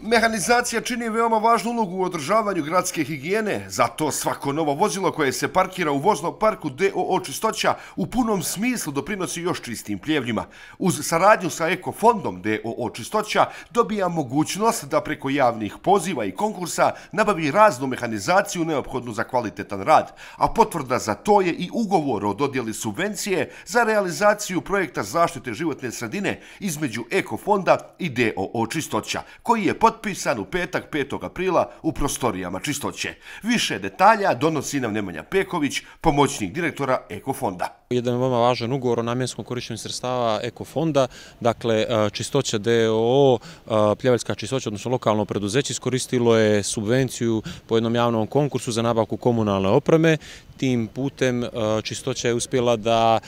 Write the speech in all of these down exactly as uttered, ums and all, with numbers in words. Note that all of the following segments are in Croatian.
Mehanizacija čini veoma važnu ulogu u održavanju gradske higijene, zato svako novo vozilo koje se parkira u voznom parku D O O Čistoća u punom smislu doprinosi još čistim pljevljima. Uz saradnju sa Ekofondom D O O Čistoća dobija mogućnost da preko javnih poziva i konkursa nabavi raznu mehanizaciju neophodnu za kvalitetan rad, a potvrda za to je i ugovor o dodjeli subvencije za realizaciju projekta zaštite životne sredine između Ekofonda i D O O Čistoća, koji je potpisan u petak petog aprila u prostorijama Čistoće. Više detalja donosi nam Nemanja Peković, pomoćnik direktora Ekofonda. Jedan veoma važan ugovor o namjenskom korištenju sredstava Ekofonda, dakle Čistoća D O O, Pljevaljska čistoća, odnosno lokalno preduzeće, iskoristilo je subvenciju po jednom javnom konkursu za nabavku komunalne opreme. Tim putem Čistoća je uspjela da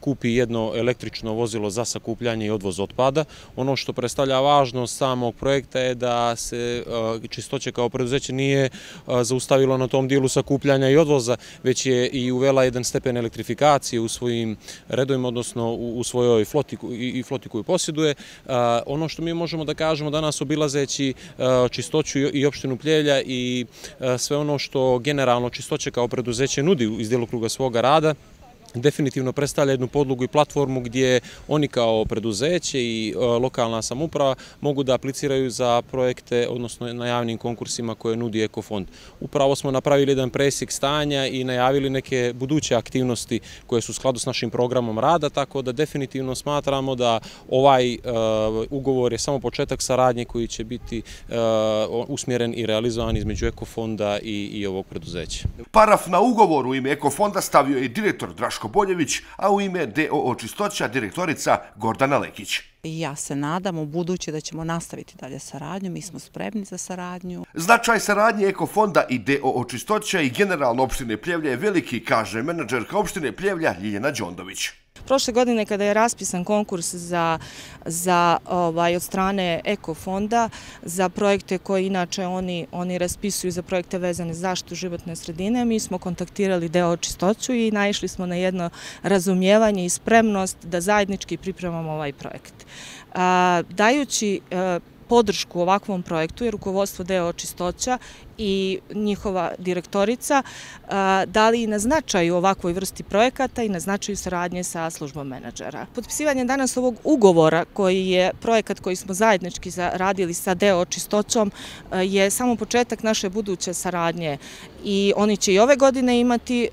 kupi jedno električno vozilo za sakupljanje i odvoz otpada. Ono što predstavlja važnost samog projekta je da se Čistoća kao preduzeće nije zaustavilo na tom dijelu sakupljanja i odvoza, već je i uvela jedan stepen elektrifikacije u svojim redovima, odnosno u svojoj floti i floti koju posjeduje. Ono što mi možemo da kažemo danas obilazeći Čistoću i opštinu Pljevlja i sve ono što generalno Čistoća kao preduzeće nudi iz djelokruga svoga rada, definitivno predstavlja jednu podlogu i platformu gdje oni kao preduzeće i lokalna samouprava mogu da apliciraju za projekte, odnosno na javnim konkursima koje nudi Ekofond. Upravo smo napravili jedan presjek stanja i najavili neke buduće aktivnosti koje su u skladu s našim programom rada, tako da definitivno smatramo da ovaj ugovor je samo početak saradnje koji će biti usmjeren i realizovan između Ekofonda i ovog preduzeća. Paraf na ugovor u ime Ekofonda stavio je i direktor Draško Boljević, a u ime D O O Čistoća direktorica Gordana Lekić. Ja se nadam u buduće da ćemo nastaviti dalje saradnju, mi smo spremni za saradnju. Značaj saradnje Ekofonda i D O O Čistoća i generalno opštine Pljevlja je veliki, kaže menadžerka opštine Pljevlja Ljiljana Đondović. Prošle godine kada je raspisan konkurs za, za, ovaj, od strane Ekofonda za projekte koje inače oni, oni raspisuju za projekte vezane za zaštitu životne sredine, mi smo kontaktirali D O O Čistoću i naišli smo na jedno razumijevanje i spremnost da zajednički pripremamo ovaj projekt. A, dajući a, podršku ovakvom projektu je rukovodstvo D O O Čistoća i njihova direktorica dali i na značaju ovakvoj vrsti projekata i na značaju saradnje sa službom menadžera. Potpisivanje danas ovog ugovora, koji je projekat koji smo zajednički radili sa D O O Čistoćom, je samo početak naše buduće saradnje i oni će i ove godine imati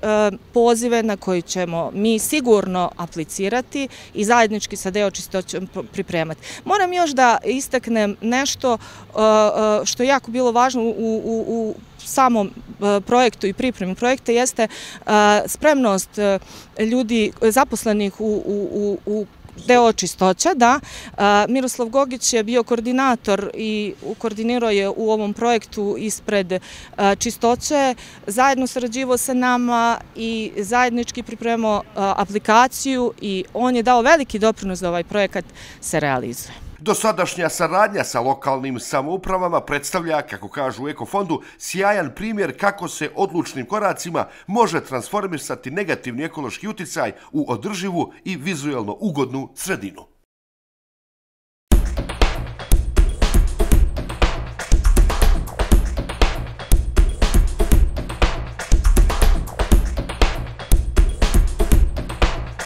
pozive na koji ćemo mi sigurno aplicirati i zajednički sa D O O Čistoćom pripremati. Moram još da istaknem nešto što je jako bilo važno u, u, u samom projektu i pripremi projekta, jeste spremnost ljudi zaposlenih u, u, u D O O Čistoća, da. Miroslav Gogić je bio koordinator i koordinirao je u ovom projektu ispred Čistoće, zajedno sarađivao sa nama i zajednički pripremao aplikaciju i on je dao veliki doprinos da ovaj projekat se realizuje. Dosadašnja saradnja sa lokalnim samoupravama predstavlja, kako kažu u Ekofondu, sjajan primjer kako se odlučnim koracima može transformisati negativni ekološki uticaj u održivu i vizuelno ugodnu sredinu.